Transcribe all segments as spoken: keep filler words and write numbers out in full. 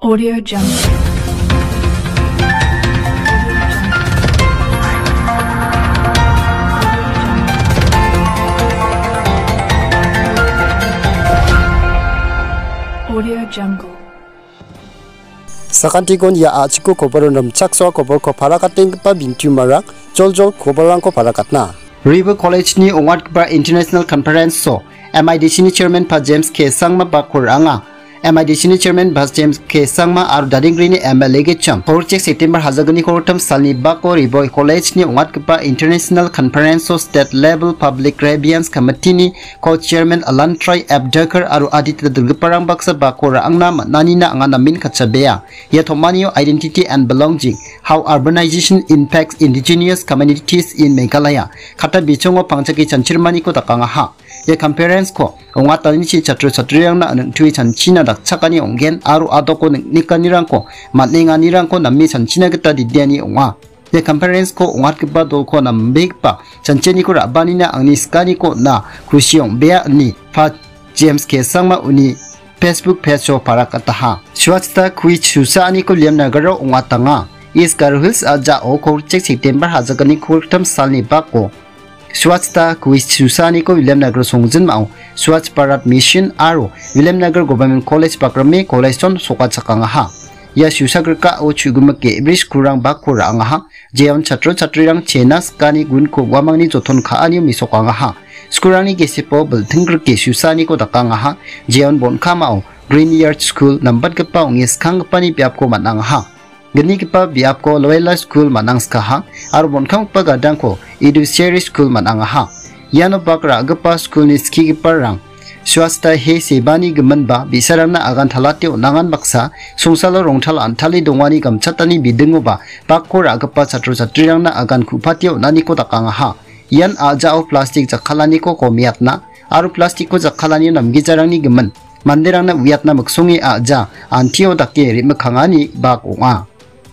Audio Jungle. Audio Jungle. Sakantikon ia a·chiko koboro rimchaksoa koborko parakatenggipa bintiumarang joljol koborrangko parakatna. River College-ni ong·atgipa International Conference-o M I D C-ni Chairman Pa James K Sangma bako ra·anga. M I D C-ni Chairman Pa James K Sangma aro Dading Grini M L A gitcham. Korchek September hajalgni kolgrim salni bako River College-ni ong·atgipa International Conference-o State Level Public Grievance Committee-ni Co-Chairman Alan Troy Abdakar aro adita dilgiparang baksa bako ra·angna man·anina anga namen katchabea. Ia tom·anio Identity and Belonging, How Urbanization Impacts Indigenous Communities in Meghalaya, kata bichongo pangchake chanchirmaniko dakangaha. Ia conference-ko ong·atanichi chatro chatrirangna ning·tue chanchina dakchakani ong·gen aro adoko ning·nikanirangko man·enganirangko name chanchina gita didiani ong·a. Ia conference-ko ong·atgipa dolko nambegipa chanchiniko ra·banina angni sikaniko on·a, kusi ong·bea, ine Pa James K Sangma uni Facebook page-o parakataha. Swachhata Quiz susaaniko Williamnagar-o ong·atanga. East Garo Hills a·jao Korchek September hajalgni kolgrim salni bako Swachhata Quiz susaaniko Williamnagar songjinmao Swachh Bharat Mission aro Williamnagar Government College bakrime college-on sokachakangaha. Ia susagrikao chu·gimik ge·bri skulrang bako ra·angaha. Jeon chatro chatrirang chena sikani gunko uamangni joton ka·anio mesokangaha. Skulrangni gesepo bilting grike susaaniko dakangaha. Jeon bonkamao Green Yard School nambatgipa ong·e skanggipani biapko man·angaha. Gnigipa biapko Loyola School man·angskaha aro bonkamgipa gadangko Idu Seri School man·angaha. Iano bak ra·gipa skulni skigiparang Swachhata Hi Sevani giminba bi·sarangna agan talate on·angan baksa songsalo rongtal antale dongani gamchatani bidingoba bakko ra·gipa chatro chatrirangna agan ku·pate on·aniko dakangaha. Ian a·jao plastik jakkalaniko komiatna aro plastikko jakkalanio namgijarangni gimin manderangna uiatna miksonge a·ja antio dake re·mikkangani bak ong·a.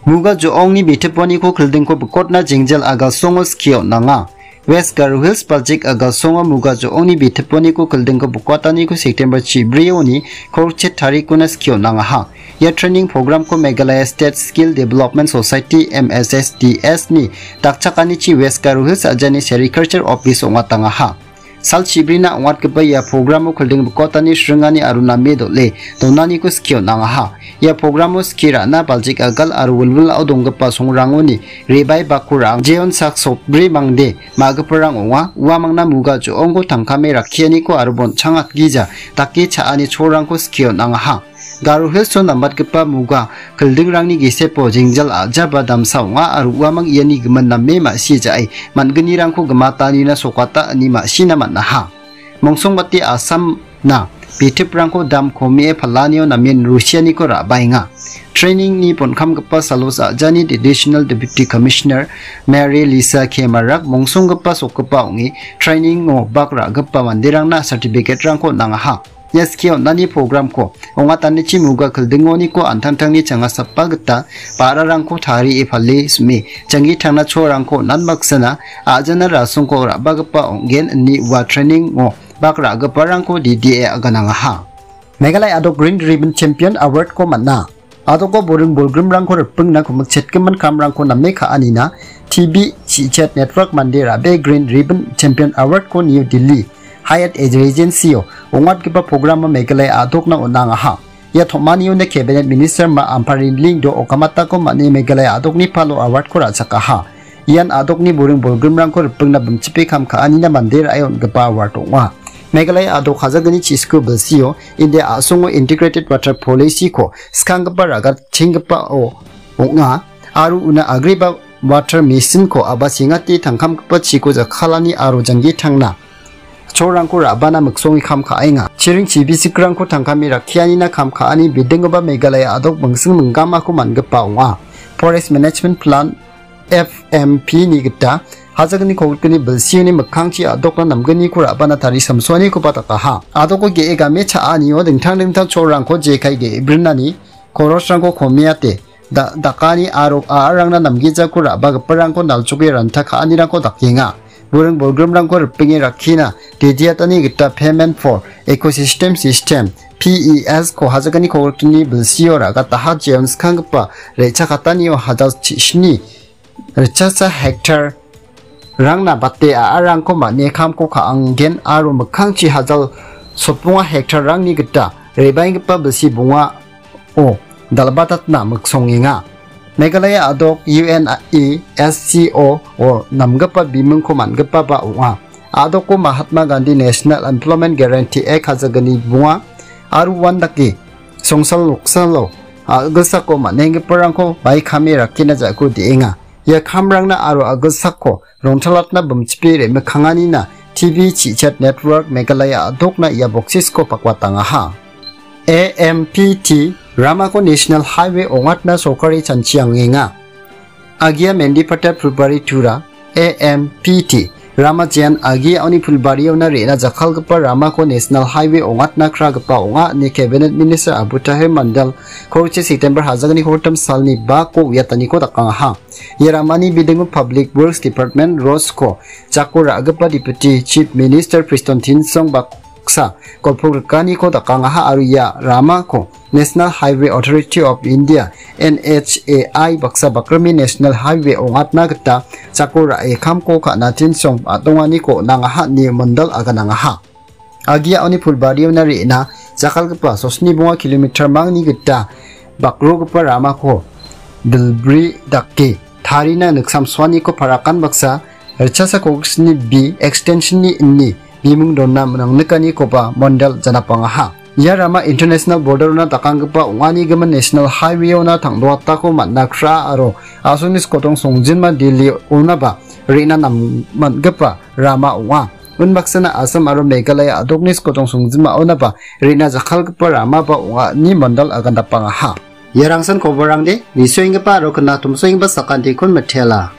Muga jo·ongni bitipaniko kildingko bikotna jengjal agalsongo skie on·anga. West Garo Hills Baljik agalsongo Muga jo·ongni bitipaniko kildingko bikotaniko September chibrioni korchet tarikona skie on·angaha. Ia training programko Meghalaya State Skill Development Society, M S S D S, ni dakchakanichi West Garo Hills a·jani Sericulture Office ong·atangaha. Sal chibrina ong·atgipa ia programo kilding bikotani sringani aro name dol·e donaniko skie on·angaha. Ia programo skie ra·na Baljik agal aro wilwilao donggipa songrangoni rebai bako ra·ang. Jeon sak sotbri mangde ma·giparang ong·a. Uamangna Muga jo·ongko tangkame rakkianiko aro bonchang atgija dake cha·ani cholrangko skie on·angaha. Garo Hills-o nambatgipa Muga kildingrangni gesepo jengjal a·jaba damsa ong·a aro uamang iani gimin name ma·si ja·e man·gnirangko gimatanina sokata ine ma·sina man·aha. Mongsongbate Assamna bitiprangko dam komie palanio namen rusianiko ra·baenga. Trainingni bonkamgipa salos a·jani Additional Deputy Commissioner Mary Lisa K Marak mongsonggipa sokgipa ong·e trainingo bak ra·gipa manderangna certificate-rangko on·angaha. Ia skie on·ani programko ong·atanichi Muga kildingoniko an·tangtangni changasapa gita ba·rarangko tarie pale sime janggi tangna cholrangko on·an baksana a·jana rasongko ra·bagipa ong·gen ine ua training-o bak ra·giparangko D D A aganangaha. Meghalaya adok Green Ribbon Champion Award-ko man·a. Adoko boring bolgrimrangko ripengna komikchetgimin kamrangko name ka·anina T B Chichet Network mande ra·bee Green Ribbon Champion Award-ko New Delhi Hyatt Regency-o ong·atgipa programo Meghalaya adokna on·angaha. Ia tom·aniona Cabinet Minister Ma Ampareen Lyngdoh okamatako man·e Meghalaya adokni palo award-ko ra·chakaha. Ian adokni boring bolgrimrangko ripengna bimchipe kam ka·anina mande ra·e on·gipa award ong·a. Meghalaya adok hajalgni chisku bilsio India a·songo Integrated Water Policy-ko skanggipa ragatchenggipao ong·a aro una agreba water machine-ko a·ba sengate tangkamgipa chiko jakkalani aro janggi tangna cholrangko ra·bana miksonge kam ka·enga. Chiring chibisikrangko tangkame rakkianina kam ka·ani bidingoba Meghalaya adok mingsing minggamako man·gipa ong·a. Forest Management Plan F M P-ni gita hajalgni kolgni bilsioni mikkangchi adokna namgniko ra·bana tarisamsoanikoba dakaha. Adoko ge·e game cha·anio dingtang dingtang cholrangko jekai ge·e brinani korosrangko komiate da-, dakani aro a·arangna namgijako ra·bagiparangko nalchoke ranta ka·anirangko dakenga. buring bolgrimrangko ripenge rakkina dediatani gita Payment for Ecosystem System, P E S ko hajakani kogriktini bilsio ra·gataha jeon skanggipa re·chakatanio hajal chi-, sni ritchasa hektar rangna bate a·arangko man·e kamko ka·angen aro mikkangchi hajal sotbonga hektar rangni gita re·baenggipa bilsi bongao dal·batatna miksongenga. Meghalaya a·dok U N E S C O o namgipa bimingko man·gipaba ong·a. A·doko Mahatma Gandhi National Employment Guarantee Act hajagni bonga aro uandake songsal noksalo a·gilsako man·enggiparangko baikame rakina ja·ko de·enga. Ia kamrangna aro a·gilsako rongtalatna bimchipe re·mikanganina T V Chichat Network Meghalaya a·dokna ia boksisko pakwatangaha. A M P T ramako National Highway ong·atna sorkari chanchiangenga. Agia Mendipatta Phulbari Tura, A M P T, rama jean agi a·oni Phulbariona re·na jakkalgipa ramako National Highway ong·atna kragipa ong·a ine Cabinet Minister Abu Tahir Mandal korichi September hajagni hortam salni bako uiataniko dakangaha. Ia ramani bidingo Public Works Department, Roads ko jako ra·gipa Deputy Chief Minister Prestone Tynsong baksa golpogrikaniko dakangaha aro ia ramako National Highway Authority of India, N H A I, baksa bakrimi National Highway ong·atna gita jako ra·e kamko ka·na Tynsong a·donganiko on·angaha ine Mandal aganangaha. Agia a·oni Phulbariona re·na jakkalgipa sosni bonga kilometer mangni gita bakrogipa ramako dilbri dake tarina niksamsoaniko parakan baksa ritchasa kogiksni B extensionni ini biming dona nangnikanikoba Mandal janapangaha. Ia rama international borderona dakanggipa ong·anigimin National Highwayona tangdoatako man·a kra aro asongni skotong songjinma Delhi onaba re·na nam-, man·gipa rama ong·a. Unbaksana Assam aro Meghalaya a·dokni skotong songjinma onaba re·na jakkalgipa ramaba ong·a ine Mandal agandapangaha. Ia rangsan koborangde nisoenggipa aro knatomsoenggipa sakantikon mitela.